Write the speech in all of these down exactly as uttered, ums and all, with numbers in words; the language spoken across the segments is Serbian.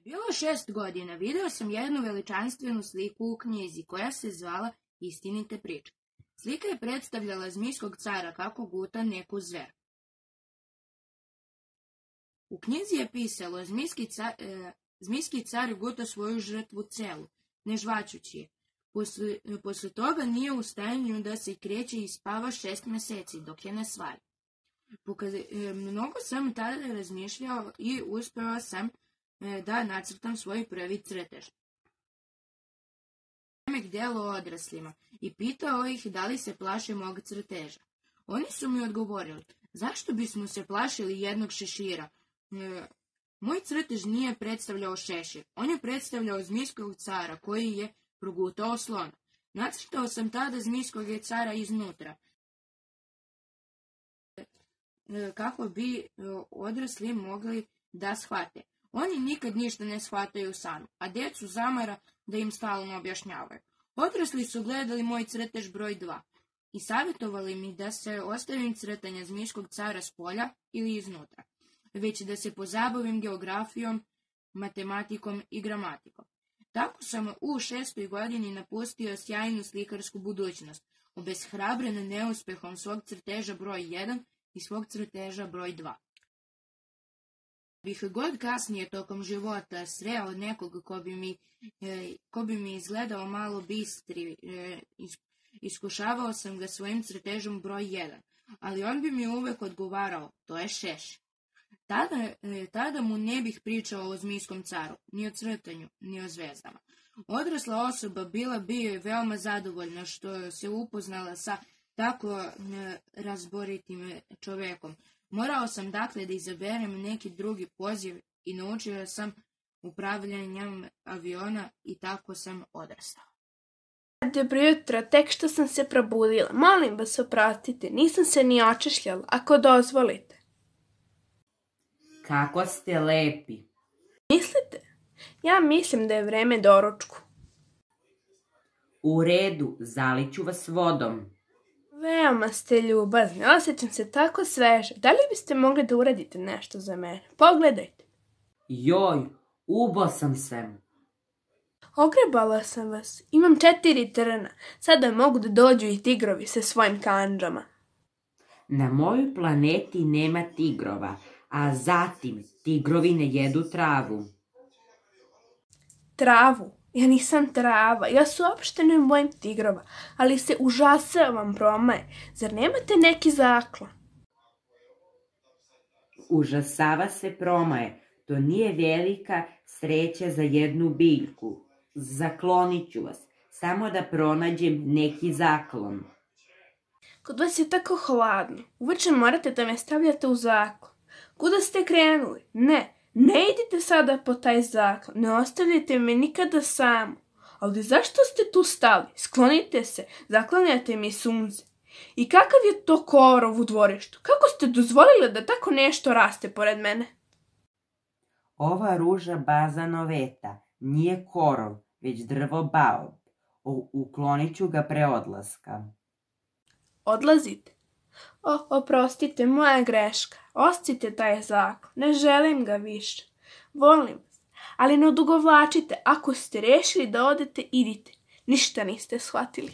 Bilo šest godina, video sam jednu veličanstvenu sliku u knjizi koja se zvala Istinite priče. Slika je predstavljala zmijskog cara kako guta neku zver. U knjizi je pisalo, zmijski car, e, zmijski car guta svoju žrtvu celu, ne žvačući je. Posle, posle toga nije u stanju da se kreće i spava šest meseci dok je ne svari. Pokaz, e, mnogo sam tada razmišljao i uspeo sam e, da nacrtam svoj prvi crtež. Delo odraslima i pitao ih da li se plaše mog crteža. Oni su mi odgovorili, zašto bismo se plašili jednog šešira? E, moj crtež nije predstavljao šešir, on je predstavljao zmijskog cara koji je progutao slona. Nacrtao sam tada zmijskog cara iznutra, e, kako bi e, odrasli mogli da shvate. Oni nikad ništa ne shvataju sami, a djecu zamara da im stalno objašnjavaju. Odrasli su gledali moj crtež broj dva i savjetovali mi da se ostavim crtanja zmijskog cara s polja ili iznutra, već da se pozabavim geografijom, matematikom i gramatikom. Tako sam u šestoj godini napustio sjajnu slikarsku budućnost, obeshrabren neuspehom svog crteža broj jedan i svog crteža broj dva. Bih god kasnije tokom života sreo nekog ko bi mi, e, ko bi mi izgledao malo bistri, e, iskušavao sam ga svojim crtežom broj jedan, ali on bi mi uvek odgovarao, to je šeš. Tada, e, tada mu ne bih pričao o zmijskom caru, ni o crtanju, ni o zvezdama. Odrasla osoba bila bi veoma zadovoljna što se upoznala sa tako e, razboritim čovekom. Morao sam dakle da izaberem neki drugi poziv i naučio sam upravljanjem aviona i tako sam odrastao. Dobro jutro, tek što sam se probudila. Molim vas oprostite, nisam se ni očešljala, ako dozvolite. Kako ste lepi. Mislite? Ja mislim da je vreme doručku. U redu, zaliću vas vodom. Veoma ste ljubazni, osjećam se tako sveže. Da li biste mogli da uradite nešto za mene? Pogledajte. Joj, ubo sam se. Ogrebala sam vas. Imam četiri trna. Sada mogu da dođu i tigrovi sa svojim kandžama. Na mojoj planeti nema tigrova, a zatim tigrovi ne jedu travu. Travu? Ja nisam trava, ja se uopšte ne bojim tigrova, ali se užasavam promaje. Zar nemate neki zaklon? Užasava se promaje, to nije velika sreća za jednu biljku. Zaklonit ću vas, samo da pronađem neki zaklon. Kod vas je tako hladno, uveče morate da me stavljate u zaklon. Kuda ste krenuli? Ne. Ne idite sada po taj zaklon, ne ostavljajte me nikada samo. Ali zašto ste tu stali? Sklonite se, zaklanjate mi sunce. I kakav je to korov u dvorištu? Kako ste dozvolili da tako nešto raste pored mene? Ova ruža bazanoveta nije korov, već drvo baob. Uklonit ću ga pre odlaska. Odlazite? O, oprostite, moja greška. Ostite taj zaklon, ne želim ga više. Volim vas, ali ne odugovlačite. Ako ste rešili da odete, idite. Ništa niste shvatili.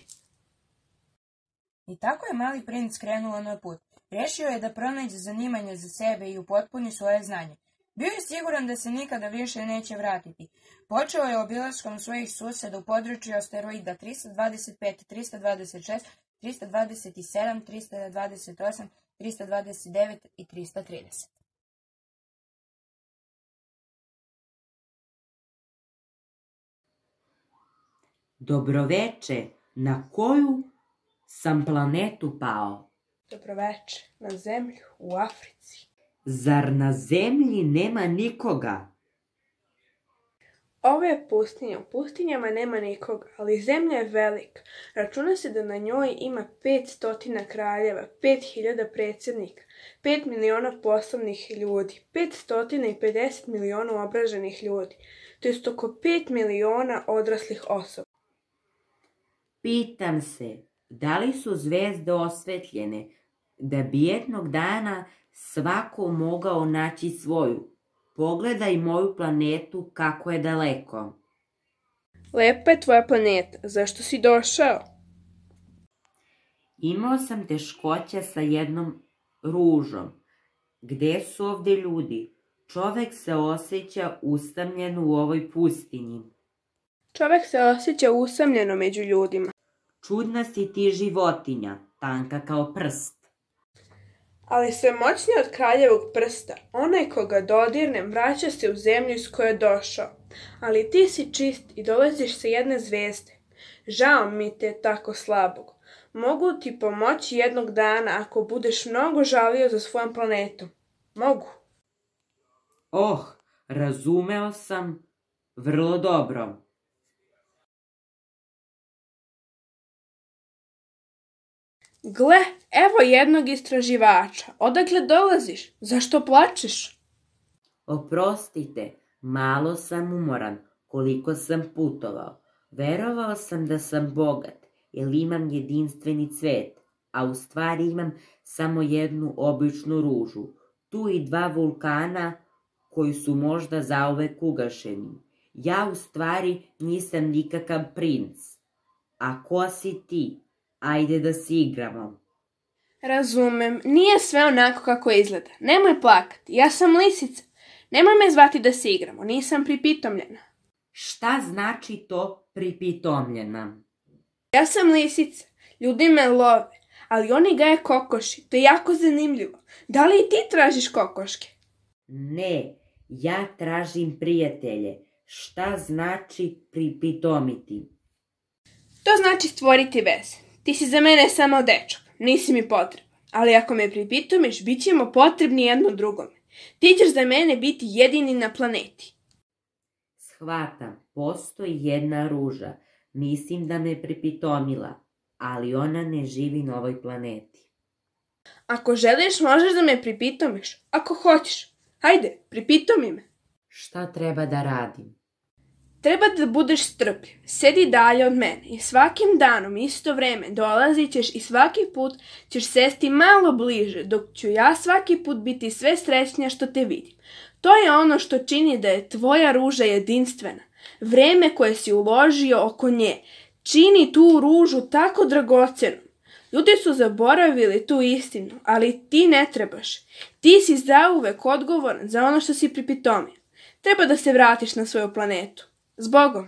I tako je mali princ krenuo na put. Rešio je da pronađe zanimanje za sebe i upotpuni svoje znanje. Bio je siguran da se nikada više neće vratiti. Počeo je obilaskom svojih suseda u području asteroida trista dvadeset pet, trista dvadeset šest, trista dvadeset sedam, trista dvadeset osam, trista dvadeset devet i trista trideset. Dobroveče, na koju sam planetu pao? Dobroveče, na zemlju u Africi. Zar na zemlji nema nikoga? Ovo je pustinja, u pustinjama nema nikoga, ali zemlja je velika. Računa se da na njoj ima pet stotina kraljeva, pet hiljada predsjednika, pet miliona poslovnih ljudi, pet stotina i pedeset miliona obraženih ljudi, to jest oko pet miliona odraslih osoba. Pitam se, da li su zvezde osvetljene, da bi jednog dana svako mogao naći svoju? Pogledaj moju planetu kako je daleko. Lepa je tvoja planeta. Zašto si došao? Imao sam teškoće sa jednom ružom. Gde su ovde ljudi? Čovek se osjeća usamljen u ovoj pustinji. Čovek se osjeća usamljeno među ljudima. Čudna si ti životinja, tanka kao prst. Ali sve moćnije od kraljevog prsta, onaj koga dodirnem vraća se u zemlju iz koje je došao. Ali ti si čist i dolaziš sa jedne zvezde. Žao mi te tako slabog. Mogu ti pomoći jednog dana ako budeš mnogo žalio za svojom planetom. Mogu. Oh, razumeo sam vrlo dobro. Gle, evo jednog istraživača. Odakle dolaziš? Zašto plačeš? Oprostite, malo sam umoran koliko sam putovao. Verovao sam da sam bogat, jer imam jedinstveni cvet, a u stvari imam samo jednu običnu ružu. Tu i dva vulkana koji su možda zauvek ugašeni. Ja u stvari nisam nikakav princ. A ko si ti? Ajde da se igramo. Razumem, nije sve onako kako izgleda. Nemoj plakati, ja sam lisica. Nemoj me zvati da se igramo, nisam pripitomljena. Šta znači to pripitomljena? Ja sam lisica, ljudi me love, ali oni gaje kokoši, to je jako zanimljivo. Da li i ti tražiš kokoške? Ne, ja tražim prijatelje. Šta znači pripitomiti? To znači stvoriti veze. Ti si za mene samo dečak, nisi mi potreban. Ali ako me pripitomiš, bit ćemo potrebni jedno drugome. Ti ćeš za mene biti jedini na planeti. Shvatam, postoji jedna ruža. Mislim da me pripitomila, ali ona ne živi na ovoj planeti. Ako želiš, možeš da me pripitomiš. Ako hoćeš. Hajde, pripitomi me. Šta treba da radim? Treba da budeš strpljiv, sedi dalje od mene i svakim danom isto vreme dolazit ćeš i svaki put ćeš sesti malo bliže, dok ću ja svaki put biti sve srećnija što te vidim. To je ono što čini da je tvoja ruža jedinstvena. Vreme koje si uložio oko nje čini tu ružu tako dragocenom. Ljudi su zaboravili tu istinu, ali ti ne trebaš. Ti si zauvek odgovoran za ono što si pripitomio. Treba da se vratiš na svoju planetu. S Bogom!